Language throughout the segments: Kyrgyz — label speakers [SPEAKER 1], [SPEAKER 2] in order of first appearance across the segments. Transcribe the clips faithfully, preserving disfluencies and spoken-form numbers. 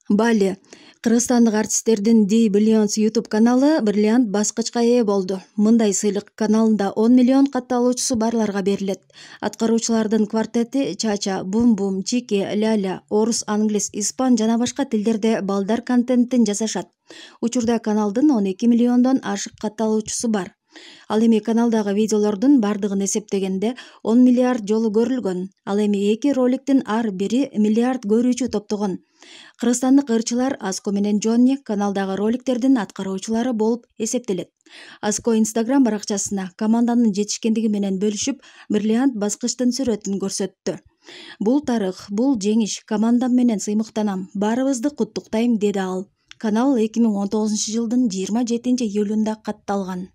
[SPEAKER 1] Бали. Кыргызстандык артисттердин Ди Billions YouTube каналы бриллиант баскычка ээ болду. Мындай сыйлык каналында он миллион катталуучусу барларга берилет. Аткаруучулардын квартети Чача, Бум Бум, Чики, Ляля, орус, англис, испан жана башка тилдерде балдар контенттин жасашат. Учурда каналдын он эки миллиондон ашык катталуучусу бар. Ал эми каналдагы видеолордун бардыгын эсептегенде он миллиард жолу көрүлгөн. Ал эми эки роликтин ар бири миллиард көрүүчү топтогон. Кыргызстандык ырчылар Аско менен Джонни каналдагы роликтердин аткаруучулары болуп эсептелет. Аско Instagram баракчасына команданын жетишкендиги менен бөлүшүп, бриллиант баскычтын сүрөтүн көрсөттү. Бул тарых, бул жеңиш, командам менен сыймыктанам, баарыбызды куттуктайм, деди ал. Канал эки миң он тогузунчу жылдын жыйырма жетинчи июлунда катталган.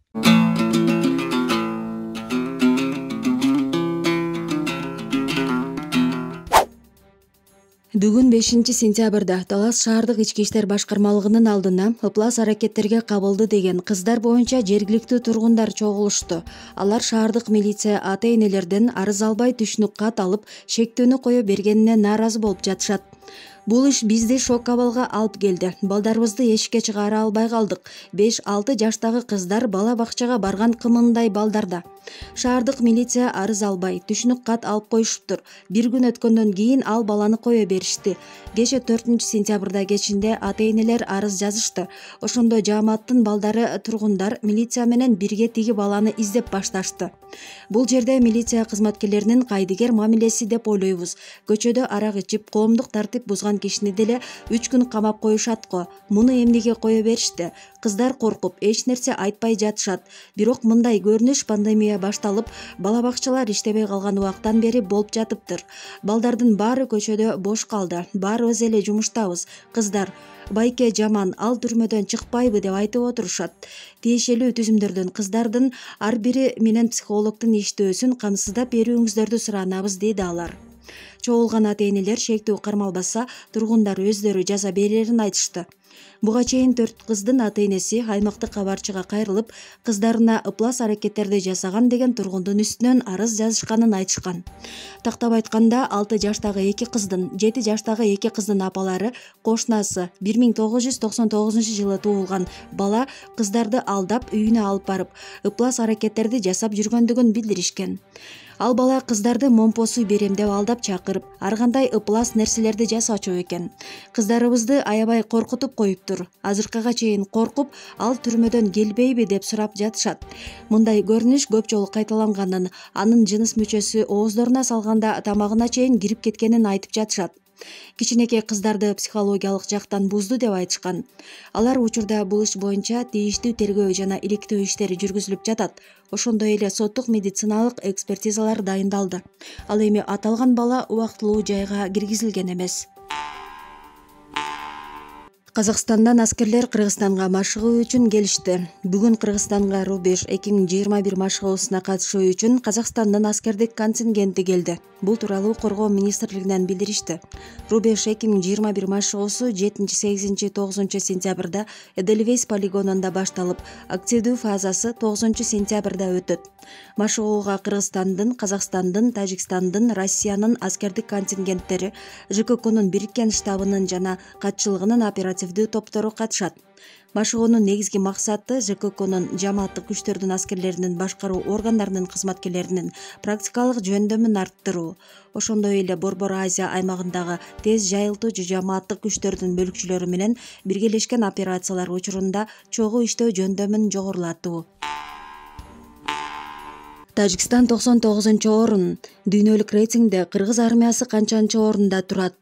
[SPEAKER 1] Бүгүн бешинчи сентябрда Талас шаардык ички иштер башкармалыгынын алдына ыплас аракеттерге кабылды деген кыздар боюнча жергиликтүү тургундар чогулушту. Алар шаардык милиция ата-энелерден арыз албай түшүнүк кат алып, шектөөнү кое бергенине нааразы болуп жатышат. Бул иш бизди шок абалга алып келди. Балдарыбызды эшикке чыгара албай калдык. беш алты жаштагы кыздар бала бакчага барган кымындай балдарда. Шаардык милиция арыз албай, түшүнүк кат алып коюшуптур. Бир күн өткөндөн кийин ал баланы кое беришти. Кеше төртүнчү сентябрда кечинде ата-энелер арыз жазышты. Ошондо жааматтын балдары, тургундар милиция менен бирге тиги баланы издеп башташты. Бул жерде милиция кызматкерлеринин кайдыгер мамилеси деп ойлойбуз. Көчөдө арак ичип, коомдук тартип бузган кишини деле үч күн камап коюшат го. Муну эмнеге кое беришти? Кыздар коркуп, эч нерсе айтпай жатышат. Бирок мындай көрүнүш пандемия башталып, бала бакчалар иштебей калган убактан бери болуп жатыптыр. Балдардын баары көчөдө бош калды. Баарыбыз эле жумуштабыз. Кыздар байке жаман, ал түрмөдөн чыкпайбы деп айтып отурушат. Тиешелүү түзүмдөрдөн кыздардын ар бири менен психологдун иштөөсүн камсыздап берүүңүздөрдү суранабыз, деди алар. Чогулган ата-энелер шектүү кармалбаса, тургундар өздөрү жаза берерин айтышты. Буга чейин төрт кыздын ата-энеси аймактык кабарчыга кайрылып, кыздарына ыплас аракеттерди жасаган деген тургундун үстүнөн арыз жазышканын айтышкан. Тактап айтканда, алты жаштагы эки кыздын, жети жаштагы эки кыздын апалары, кошунасы бир миң тогуз жүз токсон тогузунчу жылы туулган бала кыздарды алдап үйүнө алып барып, ыплас аракеттерди жасап жүргөндүгүн билдиришкен. Ал бала кыздарды момпосу берем деп алдап чакырып, ар кандай ыплас нерселерди жасачу экен. Кыздарыбызды аябай коркутуп коюптур. Азыркыга чейин коркуп, ал түрмөдөн келбейби деп сурап жатышат. Мындай көрүнүш көп жолу кайталанганын, анын жыныс мүчөсү ооздоруна салганда тамагына чейин кирип кеткенин айтып жатышат. Кичинекей кыздарды психологиялык жактан бузду деп айтышкан. Алар учурда бул иш боюнча тийиштүү тергөө жана иликтөө иштери жүргүзүлүп жатат. Ошондой эле соттук медициналык экспертизалар дайындалды. Ал эми аталган бала убактылуу жайга киргизилген эмес. Казакстандан аскерлер Кыргызстанга машыгуу үчүн келишти. Бүгүн Кыргызстанга Рубеж эки миң жыйырма бир машыгуусуна катышуу үчүн Казакстандын аскердик контингенти келди. Бул тууралуу Коргоо министрлигинен билдиришти. Рубеж эки миң жыйырма бир машыгуусу жетинчи, сегизинчи, тогузунчу сентябрда Эдельвейс полигонунда башталып, активдүү фазасы тогузунчу сентябрда өтөт. Машыгууга Кыргызстандын, Казакстандын, Тажикстандын, Россиянын аскердик контингенттери, ЖККнун бириккен штабынын жана катчылыгынын оперативдүү топтору катышат. Машыгуунун негизги максаты ЖККнун жамааттык күчтөрдүн аскерлеринин башкаруу органдарынын кызматкерлеринин практикалык жөндөмүн арттыруу. Ошондой эле Борбор Азия аймагындагы тез жайылтуучу жамааттык күчтөрдүн бөлүкчүлөрү менен биргелешкен операциялар учурунда чогуу иштөө жөндөмүн жогорулатуу. Тажикстан токсон тогузунчу орун. Дүйнөлүк рейтингде кыргыз армиясы канчанчы орунда турат?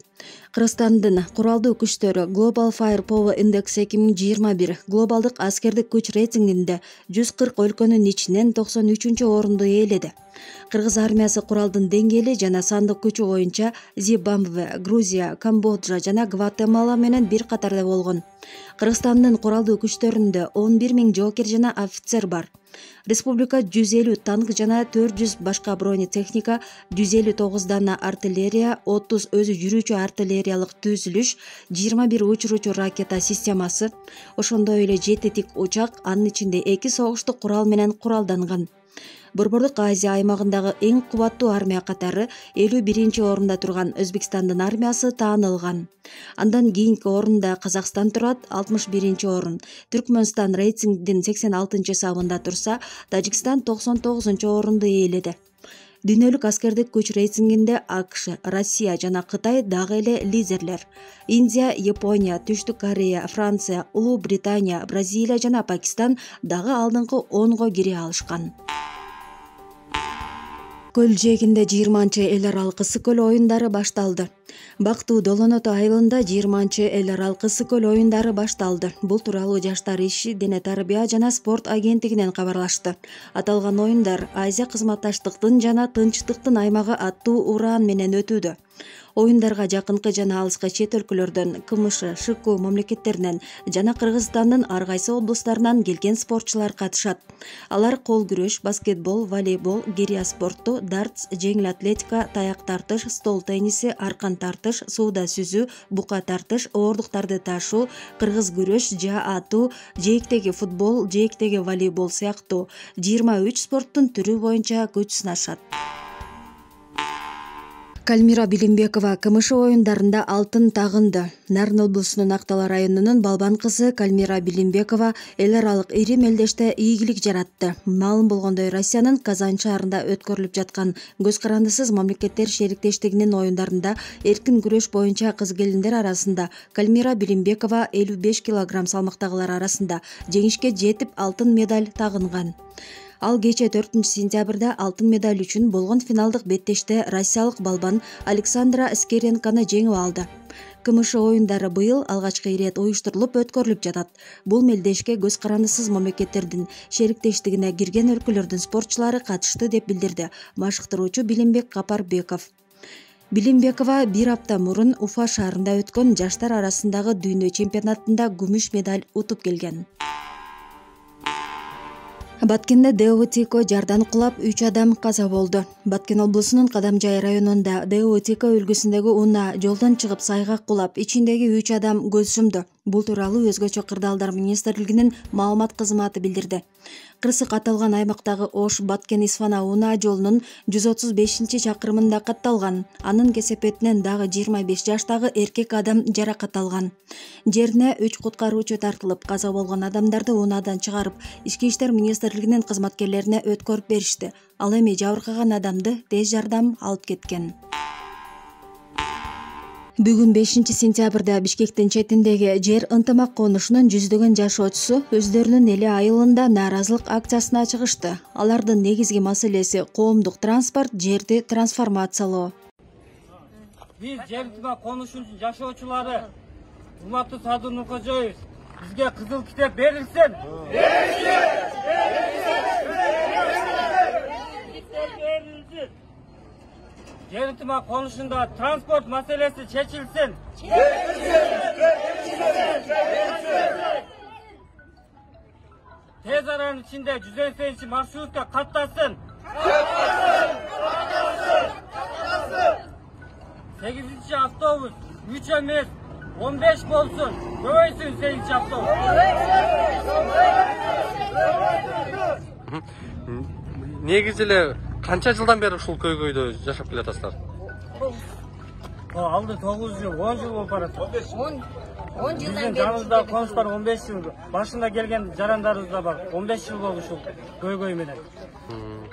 [SPEAKER 1] Кыргызстандын куралдуу күчтөрү Global Firepower Index эки миң жыйырма бир глобалдык аскердик күч рейтингинде жүз кырк өлкөнүн ичинен токсон үчүнчү орунду ээледи. Кыргыз армиясы куралдын деңгээли жана сандык күчү боюнча Зимбабве, Грузия, Камбоджа жана Гватемала менен бир катарда болгон. Кыргызстандын куралдуу күчтөрүндө он бир миң жоокер жана офицер бар. Республика жүз элүү танк жана төрт жүз башка бронетехника, жүз элүү тогуз дана артиллерия, отуз өзү жүрүүчү артиллериялык түзүлүш, жыйырма бир учуруучу ракета системасы, ошондой эле жети тик учак, анын ичинде эки согуштук курал менен куралданган. Борбордук Азия аймагындагы эң кубаттуу армия катары элүү биринчи орунда турган Өзбекстандын армиясы таанылган. Андан кийинки орунда Казакстан турат, алтымыш биринчи орун. Түркмөнстан рейтингдин сексен алтынчы сабында турса, Тажикстан токсон тогузунчу орунду ээледи. Дүйнөлүк аскердик күч рейтингинде АКШ, Россия жана Кытай дагы эле лидерлер. Индия, Япония, Түштүк Корея, Франция, Улуу Британия, Бразилия жана Пакистан дагы алдыңкы онго кире алышкан. Көл жээгинде жыйырманчы эл аралык ысык-көл оюндары башталды. Бактуу Долоното айылында жыйырманчы эл аралык ысык-көл оюндары башталды. Бул тууралуу Жаштар иши, дене тарбия жана спорт агенттигинен кабарлашты. Аталган оюндар Азия кызматташтыктын жана тынчтыктын аймагы аттуу ураан менен өтүүдө. Оюндарга жакынкы жана алыскы чет өлкөлөрдөн, КМШ, ШК мамлекеттеринен жана Кыргызстандын ар кайсы облустарынан келген спортчулар катышат. Алар кол күрөш, баскетбол, волейбол, гиря спорту, дартс, жеңил атлетика, таяк тартыш, стол тенниси, аркан тартыш, сууда сүзүү, бука тартыш, оордуктарды ташуу, кыргыз күрөш, жаа атуу, жээктеги футбол, жээктеги волейбол сыяктуу жыйырма үч спорттун түрү боюнча күч сынашат. Кальмира Билимбекова КМШ оюндарында алтын тагынды. Нарын облусунун Актала районунун Балбан кызы Кальмира Билимбекова эл аралык ири мелдеште ийгилик жаратты. Маалым болгондой, Россиянын Казань шаарында өткөрүлүп жаткан Көз карандысыз мамлекеттер шериктештигинин оюндарында эркин күрөш боюнча кыз-келиндер арасында Кальмира Билимбекова элүү беш килограмм салмактагылар арасында жеңишке жетип алтын медаль тагынган. Ал кече төртүнчү сентябрда алтын медаль үчүн болгон финалдык беттеште россиялык балбан Александра Скеренканы жеңип алды. КМШ оюндары быйыл алгачкы ирет уюштурулуп өткөрүлүп жатат. Бул мелдешке көз карандысыз мамлекеттердин шериктештигине кирген өлкөлөрдүн спортчулары катышты деп билдирди машыктыруучу Билимбек Капарбеков. Билимбекова бир апта мурун Уфа шаарында өткөн жаштар арасындагы дүйнө чемпионатында күмүш медаль утуп келген. Баткенде ДОТИКО жардан кулап үч адам каза болду. Баткен облусунун Кадамжай районунда ДОТИКО үлгүсүндөгү унаа жолдон чыгып сайгак кулап, ичиндеги үч адам көз жумду. Бул тууралуу Өзгөчө кырдаалдар министрлигинин маалымат кызматы билдирди. Кырсык аталган аймактагы Ош Баткен-Исфана унаа жолунун жүз отуз бешинчи чакырымында катталган. Анын кесепетинен дагы жыйырма беш жаштагы эркек адам жаракат алган. Жерине үч куткаруучу тартылып, каза болгон адамдарды унаадан чыгарып, Ички иштер министрлигинин кызматкерлерине өткөрүп беришти. Ал эми жабыркаган адамды тез жардам алып кеткен. Бүгүн бешинчи сентябрда Бишкектин четиндеги жер ынтымак конушунун жүздөгөн жашоочусу өздөрүнүн эли айылында нааразылык акциясына чыгышты. Алардын негизги маселеси коомдук транспорт, жерди трансформациялоо.
[SPEAKER 2] Биз жер ынтымак конушунун жашоочулары урматтуу Садыр Нуркожоевич, бизге кызыл китеп берилсин. Берилсин! Жер ынтымак конушунда транспорт маселеси чечилсин. Тез аранын ичинде жүз сексен маршрутка каттасын. сегизинчи автобус үч эмес он беш болсун. Көбөйсүн сегизинчи автобус.
[SPEAKER 3] Негизи эле канча жылдан бери ушул көйгөйдө жашап келатасыздар?
[SPEAKER 2] Алды тогуз жыл, он жыл болуп барат.
[SPEAKER 4] он жылдан бери.
[SPEAKER 2] Жаныбызда конуштар он беш жыл. Башында келген жарандарыбыз да бар. он беш жыл болду ушул көйгөй менен.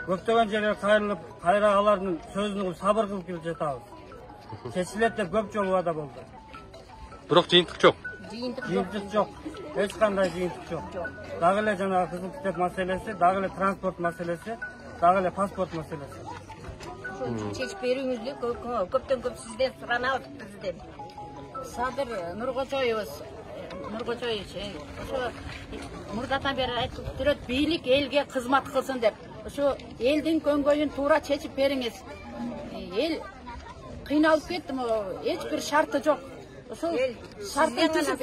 [SPEAKER 2] Көптөгөн жерге кайрылып, кайра алардын сөзүн угуп сабыр кылып келип жатабыз. Чечилет деп көп жолу убада болду.
[SPEAKER 3] Бирок жыйынтык жок.
[SPEAKER 2] Жыйынтык жок. Эч кандай жыйынтык жок. Дагы эле жанагы кызыл китеп маселеси, дагы эле транспорт маселеси, дагы эле паспорт маселеси.
[SPEAKER 4] Чечип берүүңүздү көптөн көп сизден суранабыз бизден. Садыр Нуркожоевич, Нуркожоевич, ошо мурдатан бери айтып жүрөт, бийлик элге кызмат кылсын деп. Ошо элдин көңгөйүн туура чечип бериңиз. Эл кыйналып кетти, эч бир шарты жок. Ошол шартын түзүп,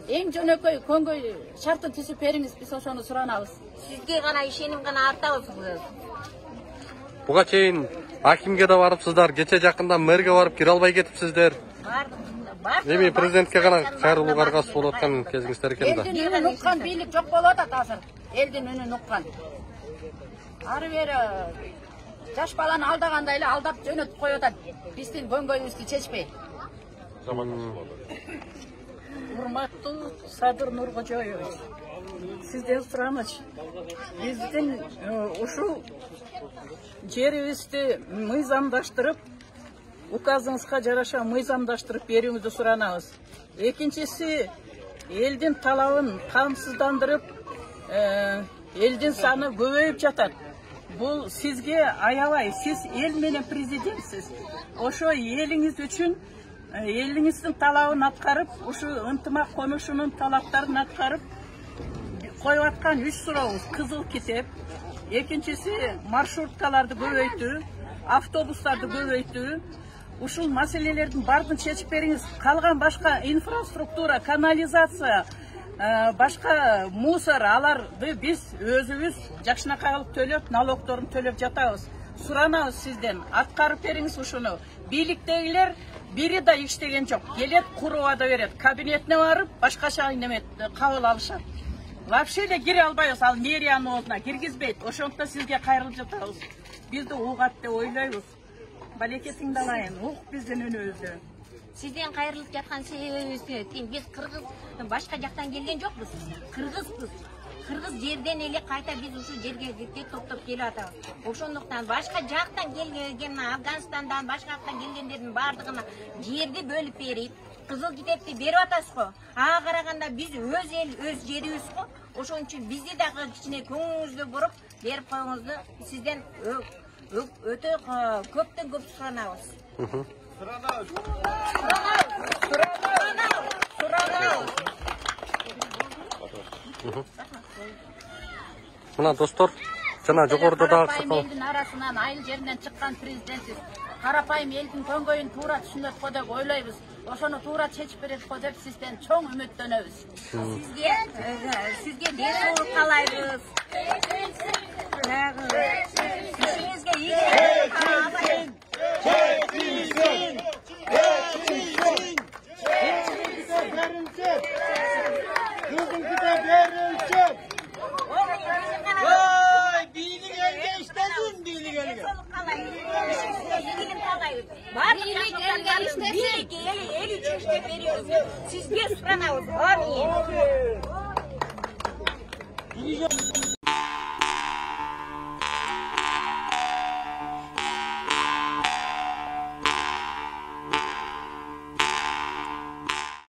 [SPEAKER 4] эң жөнөкөй көңгөй шартын түзүп бериңиз, биз ошону суранабыз. Сизге гана ишеним гана артабыз.
[SPEAKER 3] Буга чейин акимге да барыпсыздар, кече жакында мэрге барып кире албай кетипсиздер. Эми президентке гана кайрылууга аргасыз болуп аткан кезиңиздер экен да.
[SPEAKER 4] Элдин үнүн уккан бийлик жок болуп атат азыр. Элдин үнүн уккан. ары бери жаш баланы алдагандай эле алдап жөнөтүп коюп атат. Биздин көңгөйүбүздү чечпей.
[SPEAKER 5] Урматтуу Садыр Нуркожоевич, сизден сурамыч. Биздин ушул жерибизди мыйзамдаштырып, указыңызга жараша мыйзамдаштырып берүүңүздү суранабыз. Экинчиси, элдин талабын камсыздандырып, элдин саны көбөйүп жатат. Бул сизге аябай, сиз эл менен президентсиз. Ошо элиңиз үчүн элиңиздин талабын аткарып, ушу ынтымак комушунун талаптарын аткарып коюп аткан үч сурообуз кызыл китеп. Экинчиси, маршруткаларды көбөйтүү, автобустарды көбөйтүү. Ушул маселелердин баардыгын чечип бериңиз. Калган башка инфраструктура, канализация, башка мусор, аларды биз өзүбүз жакшынакай кылып төлөп, налогдорун төлөп жатабыз. Суранабыз сизден, аткарып бериңиз ушуну. Бийликтегилер бири да иштеген жок. Келет, курубада берет. Кабинетине барып, башкача неме кабыл алышат. Вообще эле кире албайбыз, ал мэриянын оозуна киргизбейт. Ошондуктан сизге кайрылып жатабыз. Бизди угат деп ойлойбуз. Балекетиңди алайын, ук биздин үнүбүздү.
[SPEAKER 4] Сизден кайрылып жаткан себебибиз биз кыргыз башка жактан келген жокпуз. Кыргызбыз. Кыргыз жерден эле кайта биз ушул жерге топтоп келип атабыз. Ошондуктан башка жактан келген, Афганистандан, башка жактан келгендердин баардыгына жерди бөлүп берип, кызыл китепти берип атасыз го. Ага караганда биз өз эл, өз жерибиз го. Ошон үчүн бизди дагы кичине көңүлүңүзгө буруп берип коюңузду сизден өтө көптөн көп суранабыз. Суранабыз. Суранабыз. Суранабыз.
[SPEAKER 3] Мына достор, жана жогоруда дагы
[SPEAKER 5] Карапайым элдин арасынан, айыл жеринен чыккан президентсиз. Карапайым элдин көңгөйүн туура түшүнөт го деп ойлойбуз. Ошону туура чечип берет го деп сизден чоң үмүттөнөбүз.
[SPEAKER 4] Сизге сизге денсаулык каалайбыз. Сизге ийгилик каалайбыз. Сизге суранабыз.